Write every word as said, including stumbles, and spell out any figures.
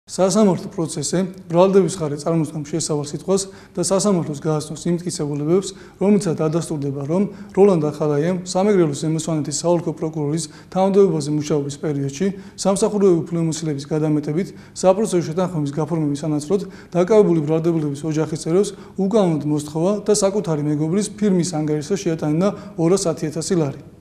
სასამართლო პროცესზე ბრალდების ხარე წარმოსდგამს შესავალ სიტყვას და სასამართლოს გააცნოს იმ მტკიცებულებებს, რომლითაც დადასტურდება, რომ როლანდ ახალაიამ სამეგრელოს ზემოსვანეთის საოლქო პროკურორის თანამდებობაზე მუშაობის პერიოდში სამსახურეობრივი ფულმომცემლების გადამეტებით საპროცესო შეთანხმების გაფორმების სანაცვლოდ დაკავებული ბრალდებულების ოჯახის წევრებს უკანონოდ მოსთხოვა და საკუთარი მეგობრის ფირმის ანგარიშზე შეატანა ორასი ათი ათასი ლარი.